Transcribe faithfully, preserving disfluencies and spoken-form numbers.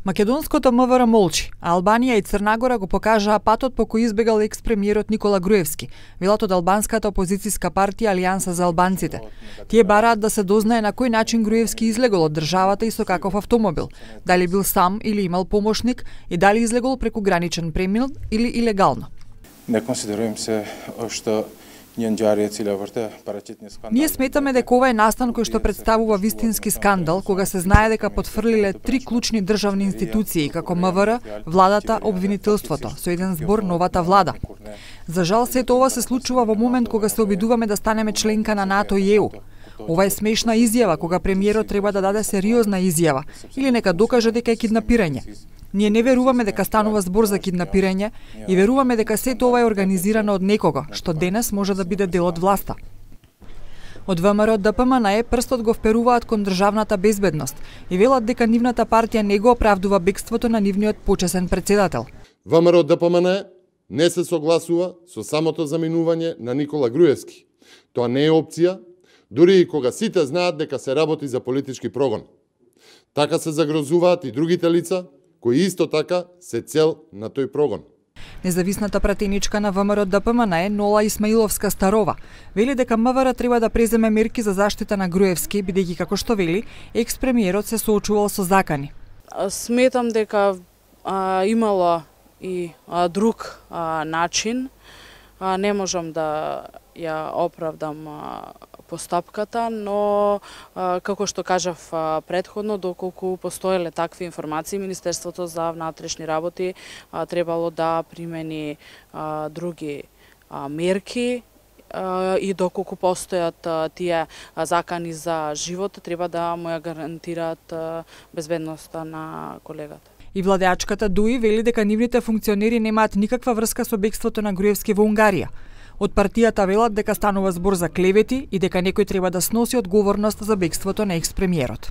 Македонското МВР молчи, а Албанија и Црнагора го покажаа патот по кој избегал екс-премиерот Никола Груевски, велат од албанската опозицијска партија Алијанса за албанците. Тие бараат да се дознае на кој начин Груевски излегол од државата и со каков автомобил, дали бил сам или имал помошник и дали излегол преку граничен премин или илегално. Не консидерувам се што Ние сметаме дека ова е настан кој што представува вистински скандал, кога се знае дека потфрлиле три клучни државни институции, како МВР, владата, обвинителството, со еден збор новата влада. За жал, сето ова се случува во момент кога се обидуваме да станеме членка на НАТО и ЕУ. Ова е смешна изјава, кога премиерот треба да даде сериозна изјава, или нека докаже дека е киднапирање. Ние не веруваме дека станува збор за киднапирање и веруваме дека сето ова е организирано од некого, што денес може да биде дел од власта. Од ВМРО Д П М Н Е прстот го вперуваат кон државната безбедност и велат дека нивната партија не го оправдува бегството на нивниот почесен председател. ВМРО Д П М Н Е не се согласува со самото заминување на Никола Груевски. Тоа не е опција, дури и кога сите знаат дека се работи за политички прогон. Така се загрозуваат и другите лица, кои исто така се цел на тој прогон. Независната пратеничка на ВМРО Д П М Н Е Нола Исмаиловска Старова вели дека МВР треба да преземе мерки за заштита на Груевски, бидејќи како што вели, екс-премиерот се соочувал со закани. Сметам дека а, имало и а, друг а, начин. А, не можам да ја оправдам а, постапката, но а, како што кажав а, предходно, доколку постоеле такви информации, Министерството за внатрешни работи а, требало да примени а, други а, мерки а, и доколку постојат а, тие а, закани за живот, треба да му ја гарантираат а, безбедноста на колегата. И владеачката Дуи вели дека нивните функционери немаат никаква врска со бегството на Груевски во Унгарија. Од партијата велат дека станува збор за клевети и дека некој треба да сноси одговорност за бегството на екс-премиерот.